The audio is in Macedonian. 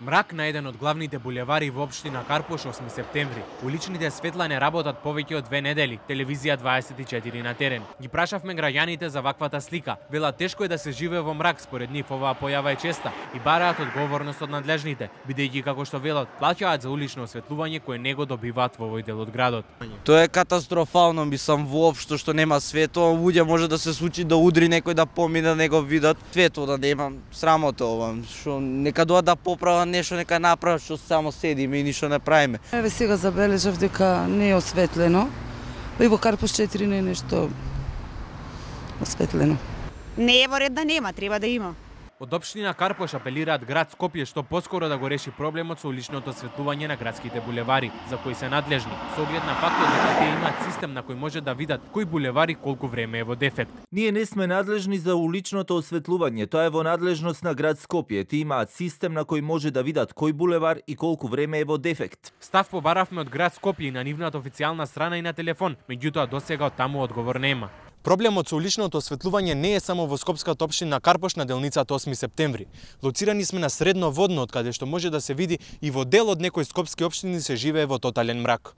Мрак на еден од главните булевари во општина Карпош 8 септември. Уличните светла не работат повеќе од 2 недели. Телевизија 24 на терен. Ги прашавме граѓаните за ваквата слика. Велат тешко е да се живее во мрак, според нив оваа појава е честа и бараат одговорност од надлежните, бидејќи како што велат, плаќаат за улично осветлување кое не го добиваат во овој дел од градот. Тоа е катастрофално, мислам воопшто што нема светло, луѓе може да се случи да удри некој да помине, да го видат. Светло да нема, срамота ова, што нека доа да поправат нешто, нека направат, што само седиме и ништо не правиме. Еве сега забележав дека не е осветлено. И во Карпош 4 не е нешто осветлено. Не е во ред да нема, треба да има. Од општина Карпош апелираат град Скопје што поскоро да го реши проблемот со уличното осветлување на градските булевари, за кои се надлежни, со оглед на фактот дека тие имаат систем на кој може да видат кој булевари колку време е во дефект. Ние не сме надлежни за уличното осветлување, тоа е во надлежност на град Скопје. Тие имаат систем на кој може да видат кој булевар и колку време е во дефект. Став побаравме од град Скопје и на нивната официјална страна и на телефон, меѓутоа досега од таму одговор нема. Проблемот со уличното осветлување не е само во скопската општина Карпош на делницата 8 септември. Лоцирани сме на средно водно, од каде што може да се види и во дел од некои скопски општини се живее во тотален мрак.